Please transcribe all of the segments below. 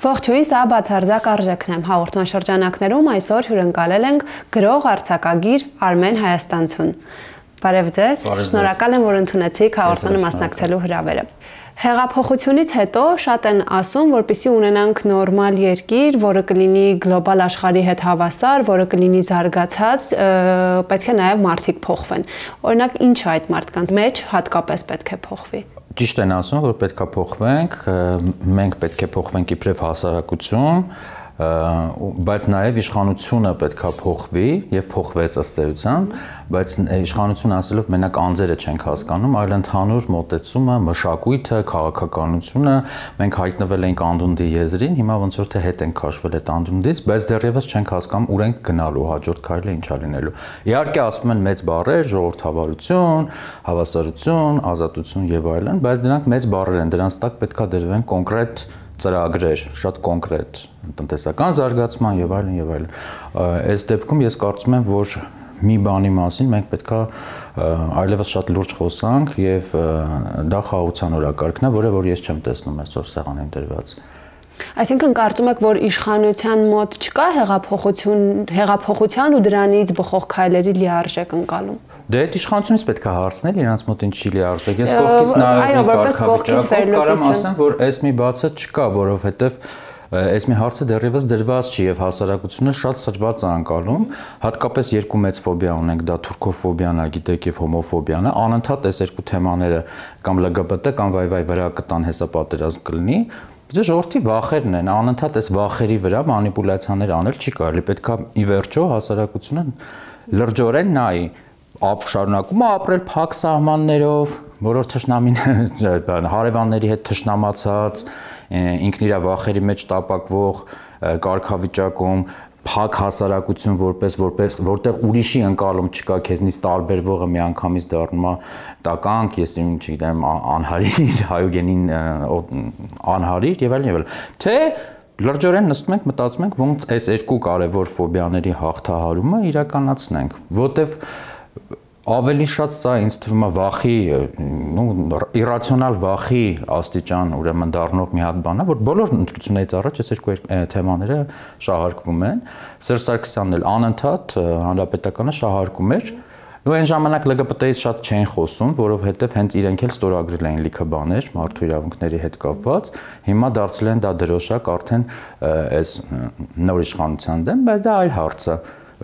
Ողջույն, սա բացարձակ արժեքն եմ հաղորդման շրջանակներում այսօր հյուրընկալել ենք գրող արձակագիր Արմեն Հայաստանցուն։ Բարև ձեզ, շնորհակալ եմ, որ ընդունեցիք հաղորդմանը մասնակցելու հրավերը։ Հեղափոխությունից հետո շատ են ասում, որպեսզի ունենանք նորմալ երկիր, որը կլինի գլոբալ աշխարհի հետ հավասար, որը կլինի զարգացած, պետք է նաև մարդիկ փոխվեն։ Օրինակ, ինչ է այդ մարդկանց մեջ հատկապես պետք է փոխվի։ Ճիշտ են ասում, որ պետք է փոխվենք, մենք պետք է փոխվենք իբրև հասարակություն, բայց նաև իշխանությունը պետք է փոխվի եւ փոխվեց ըստ էության, բայց իշխանություն ասելով մենակ անձերը չենք հասկանում, այլ ընդհանուր մոտեցումը, մշակույթը, քաղաքականությունը, մենք հայտնվել ենք անդունդի եզրին, հիմա ոնց որ թե հետ ենք քաշվել այդ անդունդից, բայց դեռևս չենք հասկանում ուր ենք գնալու, հաջորդ քայլը ինչա լինելու։ Իհարկե ասում են մեծ բառեր, ժողովրդավարություն, հավասարություն, ազատություն եւ այլն, բայց դրանք մեծ բառեր են, դրանց տակ պետքա դրվեն կոնկրետ ծրագրեր, շատ կոնկրետ տնտեսական զարգացման եւ այլն եւ այլն։ Այս դեպքում ես կարծում եմ, որ մի բանի մասին մենք պետքա այլևս շատ լուրջ խոսանք եւ դա խաղաղության օրակարգն է, որը որ ես չեմ տեսնում այսօր սեղանին դրված։ Այսինքն կարծում եք, որ իշխանության մոտ չկա հեղափոխության ու դրանից բխող քայլերի լիարժեք ընկալում։ Դե այդ իշխանությունից պետք է հարցնել, իրանց մոտ ինչ չի լիարժեք։ Ես կողքից նայելով կարգավիճակով կարամ ասեմ, որ այս մի բացը չկա, որովհետեւ այս մի հարցը դեռևս դրված չի եւ հասարակությունը շատ սրված է անցալում, հատկապես երկու մեծ ֆոբիա ունենք, դա թուրքոֆոբիան է, գիտեք, եւ հոմոֆոբիան է, անընդհատ այս երկու թեմաները կամ LGBT կամ վայ վրա կտան հեսապատերազմ կլինի, բայց ժողովրդի վախերն են, անընդհատ այս վախերի վրա մանիպուլյացիաներ անել չի կարելի, պետքա ի վերջո հասարակությունը լրջորեն նայի, շարունակում է ապրել փակ սահմաններով, որոշ թշնամին հարևանների հետ թշնամացած, ինքն իր վախերի մեջ տապակվող կարգավիճակում, փակ հասարակություն որտեղ ուրիշի ընկալում չկա, քեզնից տարբերվողը միանգամից դառնում է տականք, ես չգիտեմ, անհարիր, հայոգենին անհարիր եւ այլն։ Թե լրջորեն նստում ենք, մտածում ենք, ոնց այս երկու կարևոր ֆոբիաների հաղթահարումը իրականացնենք, որտեվ ավելի շատ սա ինձ թվում է վախի, իրացիոնալ վախի աստիճան ուրեմն դառնող մի հատ բան է, որ բոլոր ընտրություններից առաջ այս երկու թեմաները շահարկվում են։ Սերժ Սարգսյանն էլ անընդհատ հանրապետականը շահարկում էր, ու այն ժամանակ LGBT-ից շատ չեն խոսում, որովհետև հենց իրենք էլ ստորագրել էին լիքը բաներ մարդու իրավունքների հետ կապված, հիմա դարձել են դա դրոշակ արդեն այս նոր իշխանության դեմ, բայց դա այլ հարց է։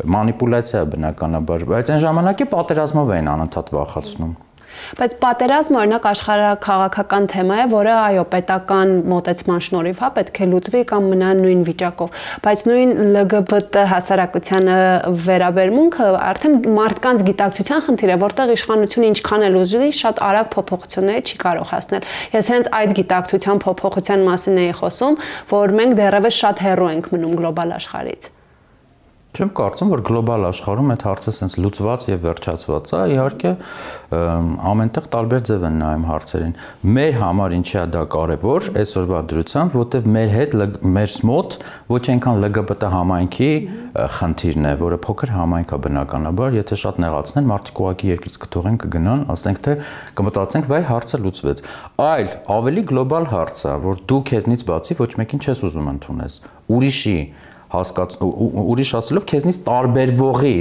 Մանիպուլյացիա բնականաբար, բայց այն ժամանակի պատերազմով էին անընդհատ վախացնում։ Բայց պատերազմը օրինակ աշխարհաքաղաքական թեմա է, որը այո, պետական մոտեցման շնորհիվ պետք է լուծվի կամ մնա նույն վիճակով, բայց նույն LGBT հասարակությանը վերաբերմունքը արդեն մարդկանց գիտակցության խնդիր է, որտեղ իշխանությունը ինչքան էլ ուզի, շատ արագ փոփոխությունների չի կարող հասնել։ Ես հենց այդ գիտակցության փոփոխության մասին էի խոսում, որ մենք դեռևս շատ հեռու ենք մնում գլոբալ աշխարհից։ Չեմ կարծում, որ գլոբալ աշխարհում այդ հարցը sense լուծված եւ վերջացված է, իհարկե ամենտեղ տարբեր ձև են նայում հարցերին։ Մեր համար ինչի է դա կարեւոր այսօրվա դրությամբ, որտեւ մեր հետ մեր մոտ ոչ այնքան LGBT համայնքի խնդիրն է, որը փոքր համայնք է բնականաբար, եթե շատ նեղացնեն, մարդիկ ուղղակի երկրից կթողեն, կգնան, ասենք թե կմտածենք, վայ հարցը լուծվեց։ Այլ ավելի գլոբալ հարց է, որ դու քեզնից բացի ոչ մեկին չես ուզում ընդունես։ Ուրիշ ասելով քեզնից տարբերվողի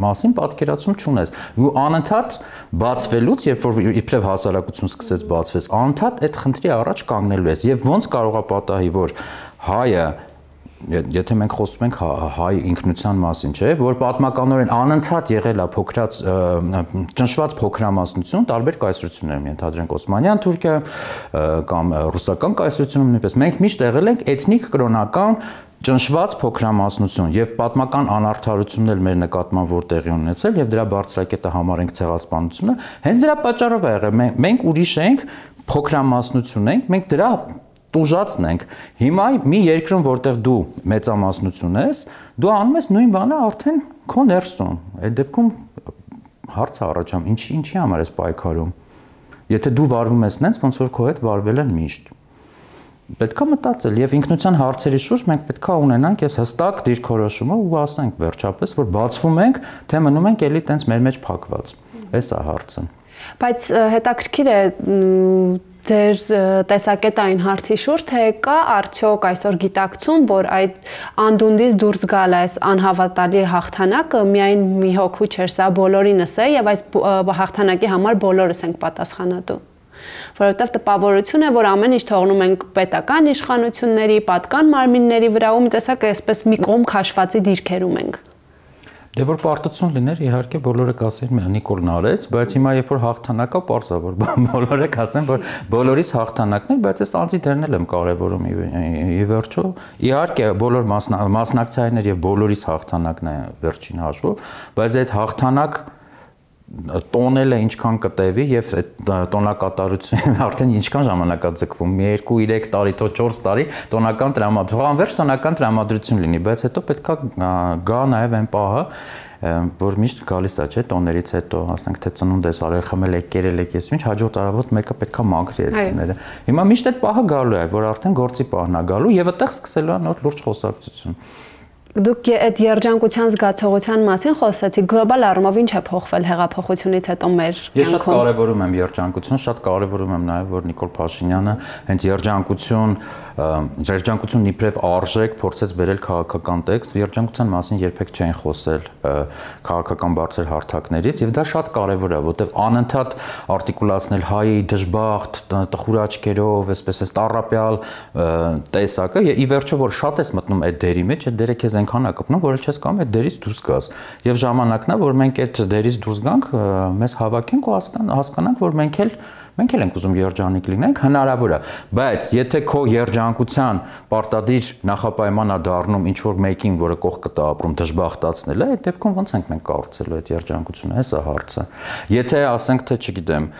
մասին պատկերացում չունես։ Ու անընդհատ բացվելուց, երբ որ իբրև հասարակություն սկսեց բացվես, անընդհատ այդ խնդրի առաջ կանգնելու ես։ Եվ ոնց կարող է պատահի, որ հայը, եթե մենք խոսում ենք հայ ինքնության մասին, չէ, որ պատմականորեն անընդհատ եղել է փոքրած ճնշված փոքրամասնություն, տարբեր կայսրություններ, ենթադրենք Օսմանյան Թուրքիա կամ ռուսական կայսրությունում նույնպես, մենք միշտ եղել ենք էթնիկ կրոնական ճնշված փոքրամասնություն եւ պատմական անարդարությունն էլ մեր նկատմամբ որ տեղի ունեցել եւ դրա բարձրակետը համարենք ցեղասպանությունը, հենց դրա պատճառով է եղել, մենք ուրիշ ենք, փոքրամասնություն ենք, մենք դրա տուժածն ենք։ Հիմա մի երկրում, որտեղ դու մեծամասնություն ես, դու անում ես նույն բանը արդեն քո ներսում։ Այդ դեպքում հարցը առաջանում, ինչի համար ես պայքարում։ Եթե դու վարվում ես նենց, ոնց որ քո հետ վարվել են միշտ։ Պետք է մտածել եւ ինքնության հարցերի շուրջ մենք պետք է ունենանք այս հստակ դիրքորոշումը ու ասենք վերջապես, որ բացվում ենք, թե մնում ենք էլի տենց մեր մեջ փակված։ Էս է հարցը։ Բայց հետաքրքիր է ձեր տեսակետային հարցի շուրջ, թե կա արդյոք այսօր գիտակցում, որ այդ անդունդից դուրս գալ այս անհավատալի հաղթանակը միայն մի հոգու չէր, սա բոլորինս է եւ այս հաղթանակի համար բոլորս ենք պատասխանատու։ Որովհետեւ տպավորություն է, որ ամեն ինչ թողնում ենք պետական իշխանությունների, պատկան մարմինների վրա ու մի տեսակ այսպես մի կողմ քաշվածի դիրքերում ենք։ Դե որ պարտություն լիներ, իհարկե բոլորը կասեն Նիկոլն արեց, բայց հիմա երբ որ հաղթանակա պարզա որ բոլորը կասեն, որ բոլորիս հաղթանակն է, բայց այս անձի դերն էլ եմ կարևորում ի վերջո։ Իհարկե բոլոր մասնակցայիններ եւ բոլորիս հաղթանակն է վերջին հաշվով, բայց այդ հաղթանակ տոնելը ինչքան կտևի եւ այդ տոնակատարությունը արդեն ինչքան ժամանակ է ձգվում, մի 2-3 տարի, թող 4 տարի տոնական տրամադրություն, անվերջ տոնական տրամադրություն լինի, բայց հետո պետքա գա նաեւ այն պահը, որ միշտ գալիս է, չէ, տոներից հետո, ասենք թե ծնունդ ես արել, խմել եք, կերել եք, ես ինչ հաջորդ առավոտ մեկը պետքա մաքրի այդ տները։ Հիմա միշտ այդ պահը գալու է, որ արդեն գործի պահն է գալու եւ այդտեղ սկսելու է նոր լուրջ խոսակցություն։ Դուք այդ երջանկության զգացողության մասին խոսեցիք, գլոբալ առումով ինչ է փոխվել հեղափոխությունից հետո մեր կյանքում։ Ես շատ կարևորում եմ երջանկություն, շատ կարևորում եմ նաև որ Նիկոլ Փաշինյանը հենց երջանկությունն իբրև արժեք փորձեց բերել քաղաքական տեքստ, երջանկության մասին երբեք չեն խոսել քաղաքական բարձր հարթակներից եւ դա շատ կարևոր է, որտեղ անընդհատ արտիկուլացնել հայի դժբախտ, տխուր աչքերով, այսպես է տառապյալ տեսակը եւ ի վերջո որ շատ ես մտնում այդ դերի մեջ, այդ դերը քեզ այնքան է կպնում, որ չես կարող այդ դերից դուրս գաս։ Եվ ժամանակն է, որ մենք այդ դերից դուրս գանք, մեզ հավաքենք ու հասկանանք, որ մենք էլ ենք ուզում երջանիկ լինենք, հնարավոր է, բայց եթե քո երջանկության պարտադիր նախապայմանա դառնում ինչ որ մեկին, որը կողքը տա ապրում դժբախտացնել է, այդ դեպքում ոնց ենք մենք կառուցելու այդ երջանկությունը, հեսա հարցը։ Եթե ասենք թե չգիտեմ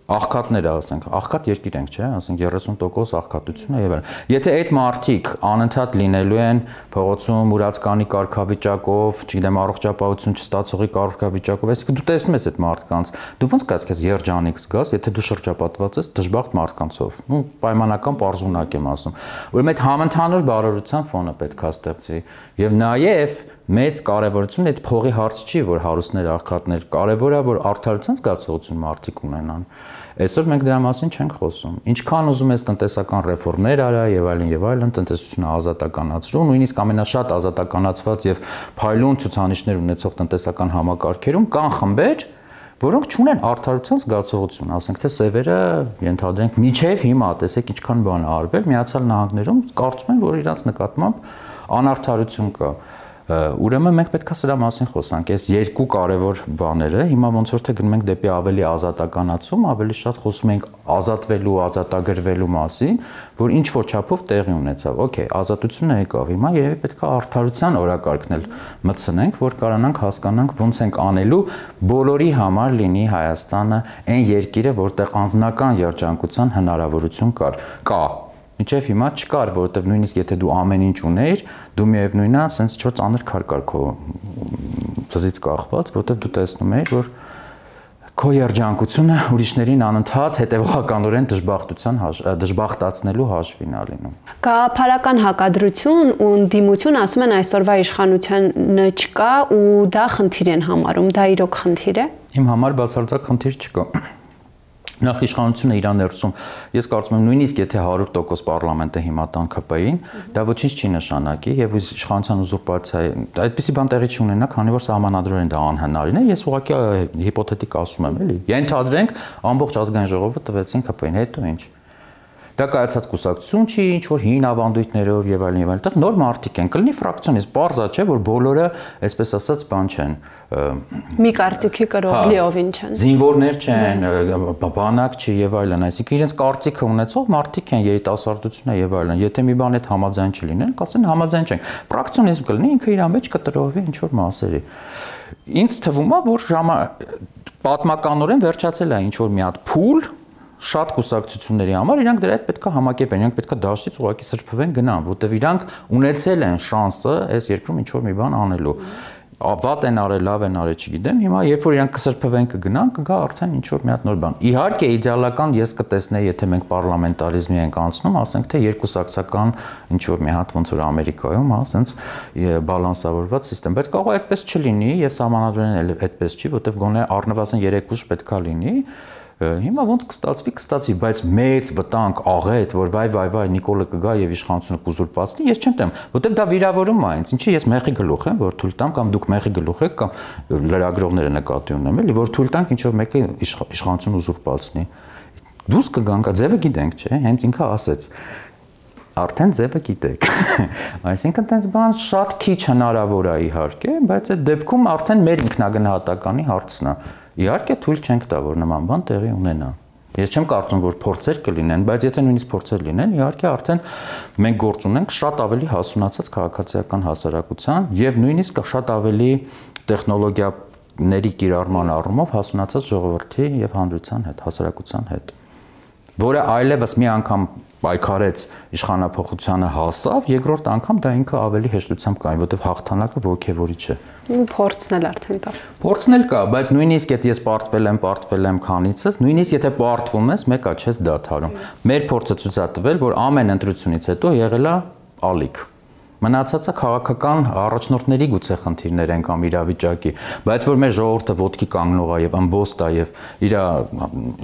աղքատները ասենք, աղքատ երկիր ենք, չէ, ասենք 30% աղքատություն է եւ այլն։ Եթե այդ մարդիկ անընդհատ լինելու են փողոցում ուրացկանի կարգավիճակով, չգիտեմ, առողջապահություն չստացողի կարգավիճակով, այսինքն դու տեսնում ես այդ մարդկանց, դու ոնց կաս քեզ երջանիկ զգաս, եթե դու շրջապատված ես դժբախտ մարդկանցով։ Ну, պայմանական պարզունակ եմ ասում։ Ուրեմն այդ համընդհանուր բարօրության ֆոնը պետք է ստեղծի եւ նաեւ մեծ կարևորություն այդ փողի հարց չի, որ հարուստներ, աղքատներ, կարևոր է, որ արդարության զգացողություն մարդիկ ունենան։ Այսօր մենք դրա մասին չենք խոսում։ Ինչքան ուզում ես տնտեսական ռեֆորմներ արա եւ այլն, տնտեսությունը ազատականացրու, նույնիսկ ամենաշատ ազատականացված եւ փայլուն ցուցանիշներ ունեցող տնտեսական համակարգերում կան խմբեր, որոնք չունեն արդարության զգացողություն, ասենք թե սևերը ենթադրենք միջև հիմա տեսեք ինչքան բան է արվել, Միացյալ Նահանգներում կարծում են, որ իրանց նկատմամբ անարդարություն կա։ Ուրեմն մենք պետք է սրա մասին խոսանք, այս երկու կարևոր բաները, հիմա ոնց որ թե գնում ենք դեպի ավելի ազատականացում, ավելի շատ խոսում ենք ազատվելու, ազատագրվելու մասին, որ ինչ որ չափով տեղի ունեցավ։ Okay, ազատությունը եկավ, հիմա երևի պետք է արդարության օրակարգն էլ մտցնենք, որ կարողանանք հասկանանք ոնց ենք անելու բոլորի համար լինի Հայաստանը այն երկիրը, որտեղ անձնական երջանկության հնարավորություն կա։ Մինչև հիմա չկար, որովհետև նույնիսկ եթե դու ամեն ինչ ունեիր, դու միևնույնն է, ասենց 4 ծանր քար կար քո ծզից կախված, որովհետև դու տեսնում ես, որ քո երջանկությունը ուրիշներին անընդհատ հետևողականորեն դժբախտացնելու հաշվին է լինում։ Գաղափարական հակադրություն ու դիմություն ասում են այսօրվա իշխանությանը չկա ու դա խնդիր են համարում, դա իրոք խնդիր է։ Իմ համար բացարձակ խնդիր չկա։ Նախ իշխանությունը իրան ներսում, ես կարծում եմ նույնիսկ եթե 100% պարլամենտը հիմա տան ԿՊ-ին, դա ոչինչ չի նշանակի եւ իշխանության ուզուրպացիա, այդպիսի բան տեղի չունենա, քանի որ սահմանադրորեն դա անհնարին է, ես ուղղակի հիպոթետիկ ասում եմ, էլի։ Ենթադրենք ամբողջ ազգային ժողովը տվեցին ԿՊ-ին, հետո ինչ։ Դա կայացած կուսակցություն չի, ինչ որ հին ավանդույթներով եւ այլն, այդտեղ նոր մարդիկ են, կլինի ֆրակցիոնիստ, բարձա չէ, որ բոլորը, այսպես ասած, բան չեն։ Մի կարծիքի կրող լիովին չեն։ Զինվորներ չեն, բանակ չի եւ այլն, այսինքն իրենց կարծիքը ունեցող մարդիկ են, երիտասարդությունը եւ այլն։ Եթե մի բան այդ համաձայն չլինեն, կասեն համաձայն չենք։ Ֆրակցիոնիզմ կլինի, ինքը իր մեջ կտրովի ինչ որ մասերի։ Ինձ թվում է, որ պատմականորեն վերջացել է ինչ որ մի հատ փուլ շատ կուսակցությունների համար իրանք դրա հետ պետքա համակերպեն, իրանք պետքա դաշտից ուղղակի սրբվեն գնան, որտեվ իրանք ունեցել են շանսը այս երկրում ինչ որ մի բան անելու։ Վատ են արել, լավ են արել, չգիտեմ, հիմա երբ որ իրանք կսրբվեն կգնան, կգա արդեն ինչ որ մի հատ նոր բան։ Իհարկե իդեալական ես կտեսնեի, եթե մենք պարլամենտարիզմի ենք անցնում, ասենք թե երկուսակցական ինչ որ մի հատ ոնց որ Ամերիկայում, հա, ասենց բալանսավորված համակարգ, բայց կարող է այդպես չլինի եւ սահմանադրորեն էլ այդպես չի, որտեվ գոնե առնվազն 3 ուժ պետքա լինի։ Հիմա ոնց կստացվի, բայց մեծ վտանգ աղետ, որ վայ Նիկոլը կգա եւ իշխանությունը կուզուրպացնի, ես չեմ տեմ, որտեվ դա վիրավորում է ինձ։ Ինչի ես մեղի գլուխ եմ, որ թույլ տամ կամ դուք մեղի գլուխ եք կամ լրագրողները նկատի ունեմ, էլի, որ թույլ տանք ինչ որ մեկը իշխանությունը ուզուրպացնի։ Դուս կգանք, ձևը գիտենք, չէ՞, հենց ինքը ասեց։ Արդեն ձևը գիտեք։ Այսինքն տենց բան շատ քիչ հնարավոր է իհարկե, բայց այդ դեպքում արդեն մեր ինքնագնահատականի հարցն է։ Իհարկե թույլ չենք տա, որ նման բան տեղի ունենա։ Ես չեմ կարծում, որ փորձեր կլինեն, բայց եթե նույնիսկ փորձեր լինեն, իհարկե արդեն մենք գործ ունենք շատ ավելի հասունացած քաղաքացիական հասարակության եւ նույնիսկ շատ ավելի տեխնոլոգիաների կիրառման առումով հասունացած ժողովրդի եւ հանրության հետ, հասարակության հետ, որը այլևս մի անգամ պայքարեց իշխանափոխությանը հասավ, երկրորդ անգամ դա ինքը ավելի հեշտությամբ կանի, որտեղ հաղթանակը ոգևորիչ է։ Ու փորձն էլ արդեն կա։ Փորձն էլ կա, բայց նույնիսկ եթե ես պարտվել եմ քանիցս, նույնիսկ եթե պարտվում ես, մեկա չես դադարում։ Մեր փորձը ցույց է տվել, որ ամեն ընտրությունից հետո եղել է ալիք։ Մնացածը քաղաքական առաջնորդների գուցե խնդիրներ են կամ իրավիճակի, բայց որ մեր ժողովուրդը ոտքի կանգնող է եւ ամբոստ է եւ իր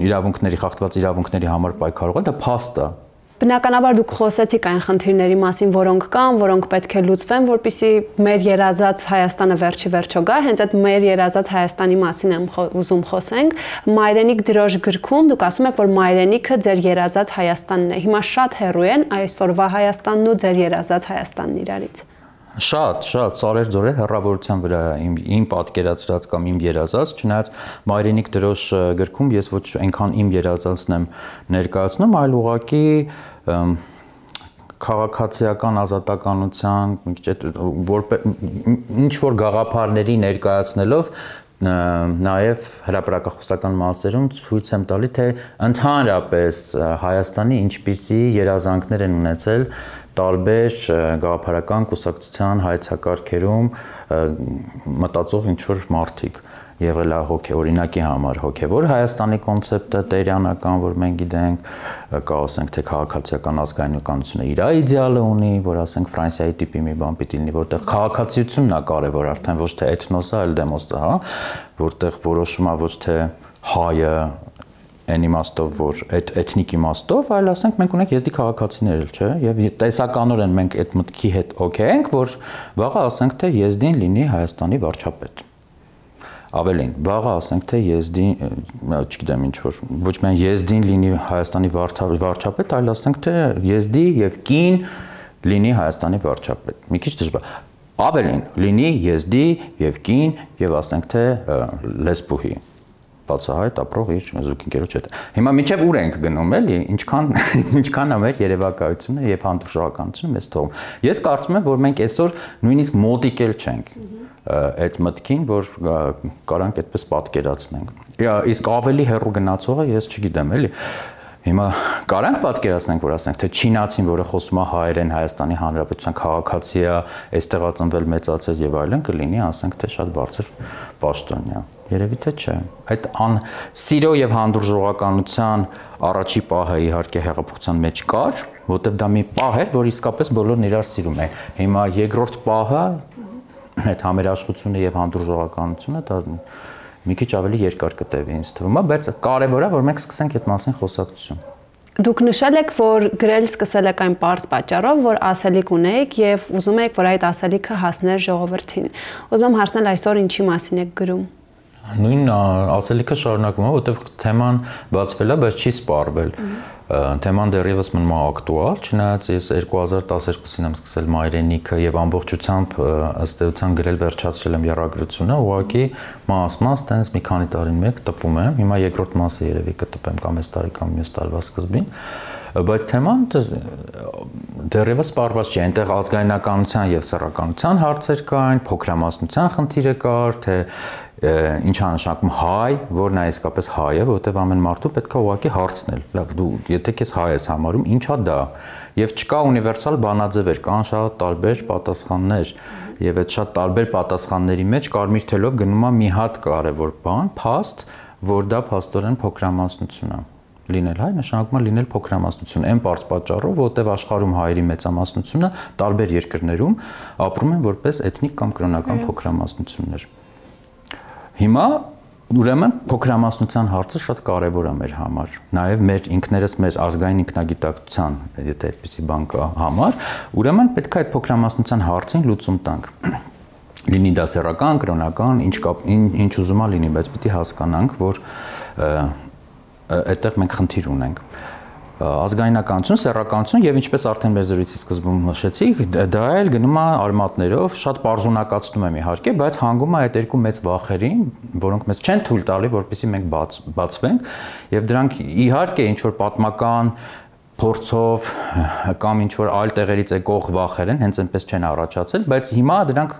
իրավունքների խախտված իրավունքների համար պայքարող է, դա փաստ է։ Բնականաբար դուք խոսեցիք այն խնդիրների մասին, որոնք կան, որոնք պետք է լուծվեն, որպեսզի մեր երազած Հայաստանը վերջի վերջո գա, հենց այդ մեր երազած Հայաստանի մասին եմ ուզում խոսենք։ Մայրենիք դրոշ գրքում դուք ասում եք, որ մայրենիքը ձեր երազած Հայաստանն է։ Հիմա շատ հեռու են այսօրվա Հայաստանն ու ձեր երազած Հայաստանն իրարից։ Շատ սարեր ձորեր հեռավորության վրա իմ պատկերացրած կամ իմ երազած, չնայած մայրենիք դրոշ գրքում ես ոչ այնքան իմ երազածն եմ ներկայացնում, այլ ուղղակի քաղաքացիական ազատականության ինչ որ գաղափարների ներկայացնելով նաև հրապարակախոսական մասերում ցույց եմ տալի, թե ընդհանրապես Հայաստանի ինչպիսի երազանքներ են ունեցել տարբեր գաղափարական կուսակցության հայեցակարգերում մտածող ինչ-որ մարդիկ եղել է օրինակի համար հոգևոր Հայաստանի կոնցեպտը տերյանական, որ մենք գիտենք, կա ասենք թե քաղաքացիական ազգայնականությունը իր իդեալը ունի, որ ասենք Ֆրանսիայի տիպի մի բան պիտի լինի, որտեղ քաղաքացիությունն է կարևոր, արդեն ոչ թե էթնոսը, այլ դեմոսը, հա, որտեղ որոշում է ոչ թե հայը այն իմաստով, որ այդ էթնիկ իմաստով, այլ ասենք մենք ունենք եզդի քաղաքացիներ, չէ՞, եւ տեսականորեն մենք այդ մտքի հետ օքեյ ենք, որ վաղը ասենք թե եզդին լինի Հայաստանի վարչապետ։ Ավելին, վաղը ասենք թե եզդին, չգիտեմ ինչ որ, ոչ միայն եզդին լինի Հայաստանի վարչապետ, այլ ասենք թե եզդի եւ կին լինի Հայաստանի վարչապետ։ Մի քիչ դժվար։ Ավելին, լինի եզդի եւ կին եւ ասենք թե լեսբուհի բացահայտ ապրող իր զուգընկերոջ հետ։ Հիմա միջև ուր ենք գնում, էլի, ինչքան է մեր երևակայությունը եւ հանդուրժողականությունը մեզ թողում։ Ես կարծում եմ, որ մենք այսօր նույնիսկ մոտիկել չենք այդ մտքին, որ կարանք այդպես պատկերացնենք։ Իսկ ավելի հեռու գնացողը ես չգիտեմ, էլի։ Հիմա կարանք պատկերացնենք, որ ասենք, թե չինացին, որը խոսում է հայերեն, Հայաստանի Հանրապետության քաղաքացի է, այստեղ ծնվել մեծացել եւ այլն, կլինի, ասենք, թե շատ բարձր պաշտոնյա։ Երևի թե չէ։ Այդ սիրո եւ հանդուրժողականության առաջի պահը իհարկե հեղափոխության մեջ կար, որտեղ դա մի պահ էր, որ իսկապես բոլորն իրար սիրում են։ Հիմա երկրորդ պահը այդ համերաշխությունը եւ հանդուրժողականությունը դա մի քիչ ավելի երկար կտևի ինձ թվում է, բայց կարևոր է, որ մենք սկսենք այդ մասին խոսակցություն։ Դուք նշել եք, որ գրել սկսել եք այն պարզ պատճառով, որ ասելիք ունեիք եւ ուզում եք, որ այդ ասելիքը հասներ ժողովրդին։ Ուզում եմ հարցնել այսօր ինչի մասին եք գրում։ Նույն ասելիքը շարունակվում է, որտեղ թեման բացվել է, բայց չի սպառվել։ Թեման դեռևս մնում է ակտուալ, չնայած ես 2012-ին եմ սկսել մայրենիքը եւ ամբողջությամբ ըստ էության գրել վերջացրել եմ եռագրությունը, ուղղակի մաս-մաս տենց մի քանի տարին մեկ տպում եմ, հիմա երկրորդ մասը երևի կտպեմ կամ այս տարի կամ մյուս տարվա սկզբին, բայց թեման դեռևս սպառված չի, այնտեղ ազգայնականության եւ սեռականության հարցեր կային, փոքրամասնության խնդիրը կար, թե ինչ է նշանակում հայ, որն է իսկապես հայը, որտեղ ամեն մարդու պետք է ուղղակի հարցնել։ Լավ, դու եթե քեզ հայ ես համարում, ի՞նչ է դա։ Եվ չկա ունիվերսալ բանաձևեր, կան շատ տարբեր պատասխաններ, եւ այդ շատ տարբեր պատասխանների մեջ կարմիր թելով գնում է մի հատ կարևոր բան, փաստ, որ դա փաստորեն փոքրամասնություն է։ Լինել հայ նշանակում է լինել փոքրամասնություն, այն բարձ պատճառով, որտեղ աշխարհում հայերի մեծամասնությունը տարբեր երկրներում ապրում են որպես էթնիկ կամ կրոնական փոքրամասնություններ։ Հիմա Ուրեմն փոքրամասնության հարցը շատ կարևոր է մեր համար, նաև մեր ինքներս մեր ազգային ինքնագիտակցության, եթե այդպիսի բան կա համար, ուրեմն պետք է այդ փոքրամասնության հարցին լուծում տանք։ Լինի դա սեռական, կրոնական, ինչ ուզում է լինի, բայց պիտի հասկանանք, որ այդտեղ մենք խնդիր ունենք։ Ազգայնականություն, սեռականություն եւ ինչպես արդեն մեր զրույցի սկզբում նշեցի, դա էլ գնում է արմատներով, շատ պարզունակացնում եմ իհարկե, բայց հանգում է այդ երկու մեծ վախերին, որոնք մեզ չեն թույլ տալի, որպեսզի մենք բացվենք, եւ դրանք իհարկե ինչ որ պատմական փորձով կամ ինչ որ այլ տեղերից եկող վախեր են, հենց այնպես չեն առաջացել, բայց հիմա դրանք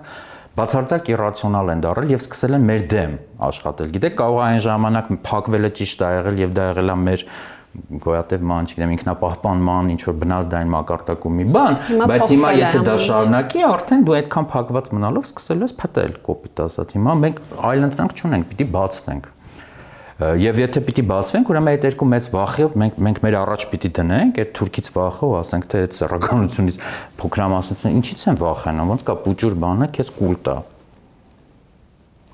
բացարձակ իրացիոնալ են դառել եւ սկսել են մեր դեմ աշխատել։ Գիտեք, կարող է այն ժամանակ փակվելը ճիշտ է եղել եւ դա եղել է մեր գոյատև ման, չգիտեմ, ինքնապահպանման, ինչ որ բնազդային մակարդակում մի բան, բայց հիմա եթե դա շարունակի, արդեն դու այդքան փակված մնալով սկսել ես փտել, կոպիտ ասած։ Հիմա մենք այլ ընտրանք չունենք, պիտի բացվենք։ Եվ եթե պիտի բացվենք, ուրեմն այդ երկու մեծ վախը մենք մեր առաջ պիտի դնենք, այդ թուրքից վախը, ու ասենք թե այդ սեռականությունից փոքրամասնությունը ինչից են վախենում, ոնց կա պուճուր բանը, քեզ կուլ տա։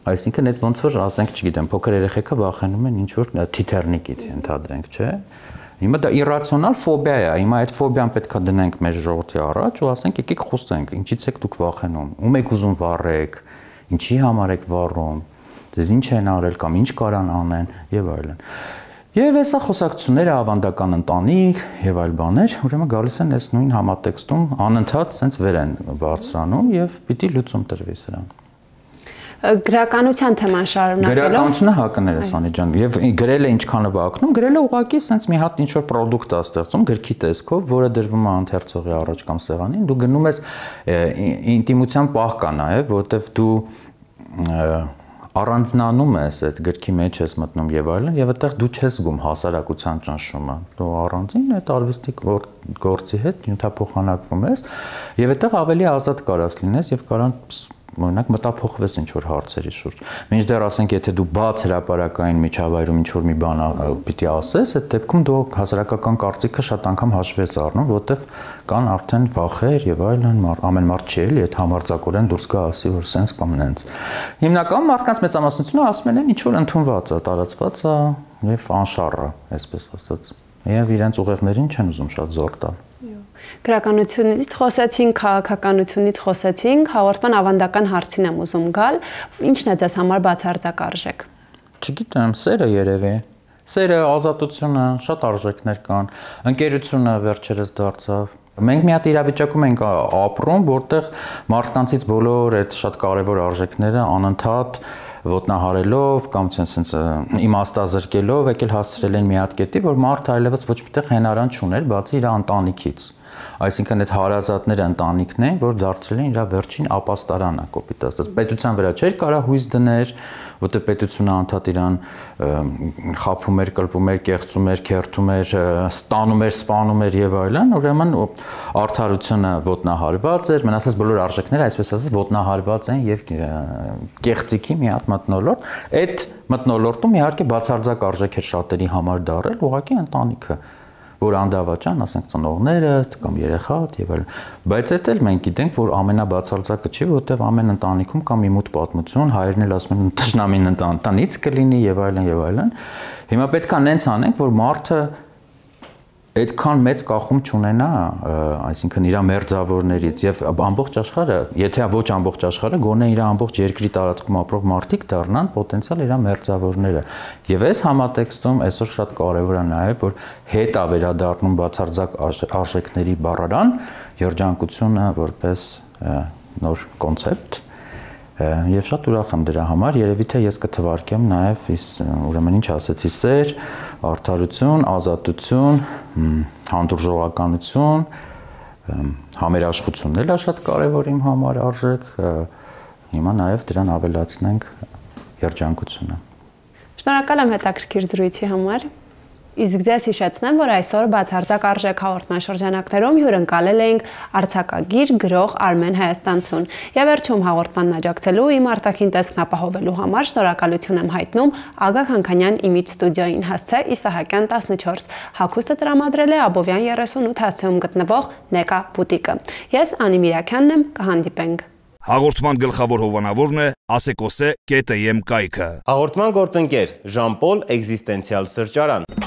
Այսինքն այդ ոնց որ ասենք, չգիտեմ, փոքր երեխեքը վախենում են ինչ որ թիթեռնիկից ենթադրենք, չէ՞։ Հիմա դա իրացիոնալ ֆոբիա է, հիմա այդ ֆոբիան պետքա դնենք մեր ժողովրդի առաջ ու ասենք եկեք խոսենք, ինչից եք դուք վախենում, ում եք ուզում վառեք, ինչի համար եք վառում, ձեզ ինչ են արել կամ ինչ կարան անեն եւ այլն։ Եվ հեսա խոսակցությունները ավանդական ընտանիք եւ այլ բաներ, ուրեմն գալիս են այս նույն համատեքստում անընդհատ sense վեր են բարձրանում եւ պիտի լուծում տրվի սրան։ Գրականության թեման շարունակելով Գրականությունը հակներ է Սանի ջան եւ գրելը ինչքանով ակնում, գրելը ուղղակի sense մի հատ ինչ որ product է ստեղծում գրքի տեսքով, որը դրվում է ընթերցողի առաջ կամ սեղանին, դու գնում ես ինտիմության պահ կա նաեւ, որովհետեւ դու առանձնանում ես այդ գրքի մեջ ես մտնում եւ այլն եւ այդտեղ դու չես զգում հասարակության ճնշումը դու առանձին այդ արվեստի գործի հետ նյութափոխանակվում ես եւ այդտեղ ավելի ազատ կարաս լինես եւ կարան օրինակ մտափոխվես ինչ որ հարցերի շուրջ մինչդեռ ասենք եթե դու բաց հրապարակային միջավայրում ինչ որ մի բան պիտի ասես այդ դեպքում դու հասարակական կարծիքը շատ անգամ հաշվի ես առնում որովհետեւ կան արդեն վախեր եւ այլն ամեն մարդ չի էլի այդ համարձակորեն դուրս գա ասի որ սենց կամ նենց հիմնականում մարդկանց մեծամասնությունը ասում են ինչ որ ընդունված է տարածված է եւ անշառ է այսպես ասած եւ իրենց ուղեղներին չեն ուզում շատ զոր տալ Գրականությունից խոսեցինք, քաղաքականությունից խոսեցինք, հաղորդման ավանդական հարցին եմ ուզում գալ, ինչն է ձեզ համար բացարձակ արժեք։ Չգիտեմ, սերը երևի։ Սերը, ազատությունը, շատ արժեքներ կան։ Ընկերությունը վերջերս դարձավ։ Մենք մի հատ իրավիճակում ենք ապրում, որտեղ մարդկանցից բոլոր այդ շատ կարևոր արժեքները անընդհատ ոտնահարելով կամ sense իմաստազրկելով եկել հասցրել են մի հատ կետի, որ մարդը այլևս ոչ միտեղ հենարան չուներ, բացի իր ընտանիքից։ Այսինքն այդ հարազատները ընտանիքն են, որ դարձրել են իր վերջին ապաստարանը, կոպիտ ասած։ Պետության վրա չէր կարա հույս դներ, որտեղ պետությունը անդադ իրան խափում էր, կլպում էր, կեղծում էր, քերթում էր, ստանում էր, սպանում էր եւ այլն, ուրեմն արդարությունը ոտնահարված էր, մնացած բոլոր արժեքները, այսպես ասած, ոտնահարված են եւ կեղծիքի մի հատ մթնոլորտ։ Այդ մթնոլորտում իհարկե բացարձակ արժեք էր շատերի համար դարել, ուղղակի ընտանիքը որ անդավաճան, ասենք ծնողները կամ երեխատ եւ այլն, բայց այդ էլ մենք գիտենք, որ ամենաբացարձակը չի, որովհետեւ ամեն ընտանիքում կա մի մութ պատմություն, հայրն էլ ասում են տշնամին ընտանից կլինի եւ այլն եւ այլն։ Հիմա պետքա նենց անենք, որ մարդը այդքան մեծ կախում չունենա, այսինքն իր մերձավորներից եւ ամբողջ աշխարհը, եթե ոչ ամբողջ աշխարհը, գոնե իր ամբողջ երկրի տարածքում ապրող մարդիկ դառնան պոտենցիալ իր մերձավորները։ Եվ այս համատեքստում այսօր շատ կարեւոր է նաեւ, որ հետ է վերադառնում բացարձակ արժեքների բառարան, երջանկությունը որպես նոր կոնցեպտ Եվ շատ ուրախ եմ դրա համար, երևի թե ես կթվարկեմ նաև ուրեմն ինչ ասեցի, սեր, արդարություն, ազատություն, հանդուրժողականություն, համերաշխությունն էլ է շատ կարևոր իմ համար արժեք, հիմա նաև դրան ավելացնենք երջանկությունը։ Շնորհակալ եմ հետաքրքիր զրույցի համար։ Իսկ ձեզ հիշեցնեմ, որ այսօր բացարձակ արժեք հաղորդման շրջանակներում հյուրընկալել էինք արձակագիր, գրող Արմեն Հայաստանցուն։ Եվ վերջում հաղորդմանն աջակցելու իմ արտաքին տեսքն ապահովելու համար շնորհակալություն եմ հայտնում Ագա Քանքանյան Image Studio-ին հասցե Իսահակյան 14։ Հագուստը տրամադրել է Աբովյան 38 հասցեում գտնվող Նեկա բուտիկը։ Ես Անի Միրաքյանն եմ, կհանդիպենք։ Հաղորդման գլխավոր հովանավորն է ասեկոսե.am կայքը։ Հաղորդման գործընկեր Ժան-Պոլ էգզիստենցիալ սրճարան։